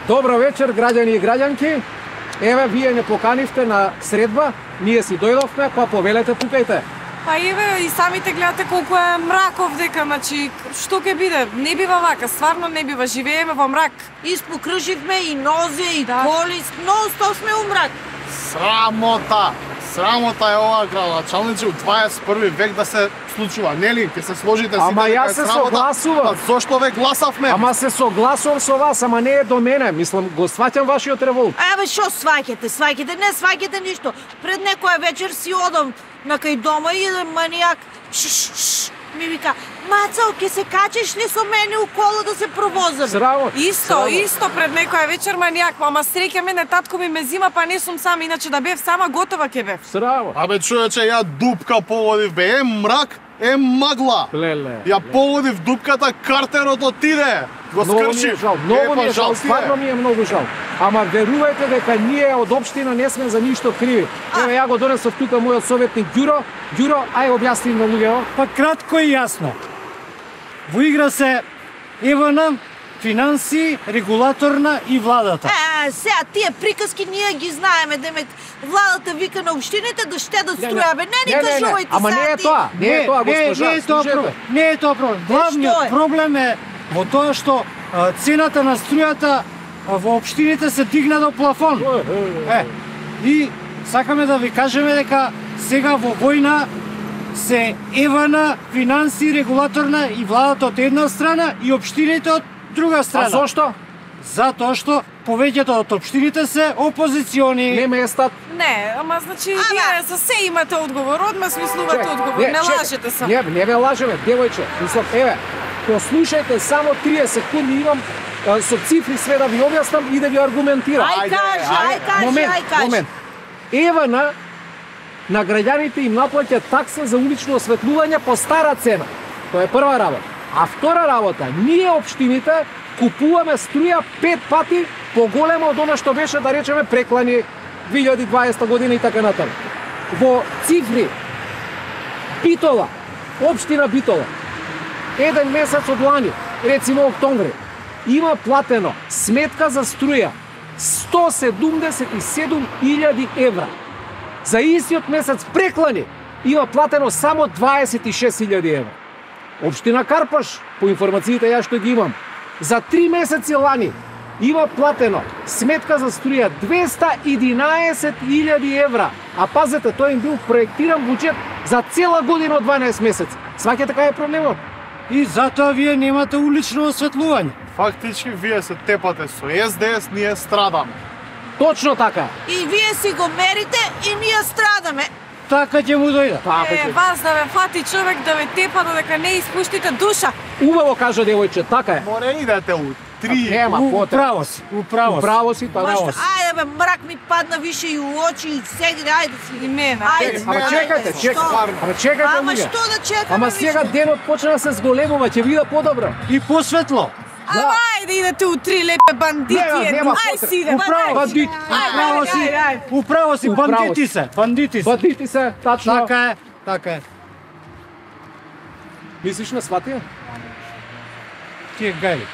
Добро вечер, граѓани и граѓанки. Еве, вие не поканивте на средба, ние си дојдовме, па повелете, пукајте. Па еве и самите гледате колку е мрак овдека, значи што ќе биде? Не бива вака, стварно не бива, живееме во мрак. Испокруживме и нозе и коли, ноу-стоп сме у мрак. Срамота! Срамота е ова градоначалниче у 21 век да се случува, нели? Ќе се сложите сите. Ама јас се согласувам. Зошто ве гласавме? Ама се согласувам со вас, ама не е до мене. Мислам, го сваќам вашиот револт. Абе, шо сваќате? Не сваќате ништо. Пред некоја вечер си одам на кај дома и еден манијак ми вика: "Мацао, ќе се качиш ли со мене у кола да се провозаме?" Срамо. Исто пред некоја вечер манијак, ама среќа мене татко ми ме зима, па не сум сам, иначе да бев сама готова ќе бев. Срамо. Абе, човече, ја дупка погодив, бе, е мрак, е магла. Леле. Ја погодив дупката, картерот отиде. Го скршив. Многу ми е жал, стварно ми е многу жал. Ама верувајте дека ние од општина не сме за ништо криви. Еве, ја го донесов тука мојот советник Ѓуро. Ѓуро, ај објасни на луѓето. Па кратко и јасно. Во игра се ЕВН, финанси, регулаторна и владата. Сега тие приказки ние ги знаеме, демек владата вика на општините да штедат струја, бе, не ни кажувајте. Ама не е тоа, не е тоа, госпожа. Не е тоа проблем. Главниот проблем е во тоа што цената на струјата во општините се дигна до плафон. И сакаме да ви кажеме дека сега во војна се ЕВН, финанси, регулаторна и владата од една страна и општините од друга страна. А зошто? Затоа што повеќето од општините се опозициони. Не местат. Не, ама значи вие за се имате одговор, одма смислувате одговор, не лажете се. Не ве лажеме, девојче. Мислам, еве, послушајте само 30 секунди, имам со цифри све да ви објаснам и да ви аргументирам. Ај кажи. Момент. ЕВН на граѓаните им наплаќа такса за улично осветлување по стара цена. Тоа е прва работа. А втора работа, ние општините купуваме струја 5 пати поголема од она што беше, да речеме, преклани 2020 година и така натаму. Во цифри, Битола, општина Битола, еден месец од лани, рецимо октомври, има платено сметка за струја 177.000 евра. За истиот месец преклани има платено само 26.000 евра. Општина Карпаш, по информациите ја што ги имам, за 3 месеци лани има платено сметка за струја 211.000 евра. А пазете, тој им бил проектиран буџет за цела година од 12 месеци. Сваќате кај е проблемот? И затоа вие немате улично осветлување. Фактички вие се тепате со СДС, ние страдаме. Точно така. И вие си го мерите и ние страдаме. Така ќе му дојде. Вас да ве фати човек да ве тепа додека не испуштите душа. Убаво кажа девојче, така е. Море идете у 3. Нема потреба. Управо си. Ајде бе, мрак ми падна више и у очи и сегде, ајде си. И мене. Ама чекајте. Ама што да чекаме? Ама сега денот почна да се зголемува, ќе биде подобро. И посветло. Ама ајде идете у 3 лепе бандити. Ај си иде. Управо си, бандити се. Бандити се, тачно. Така е. Мислиш на сватија? Тие гајли.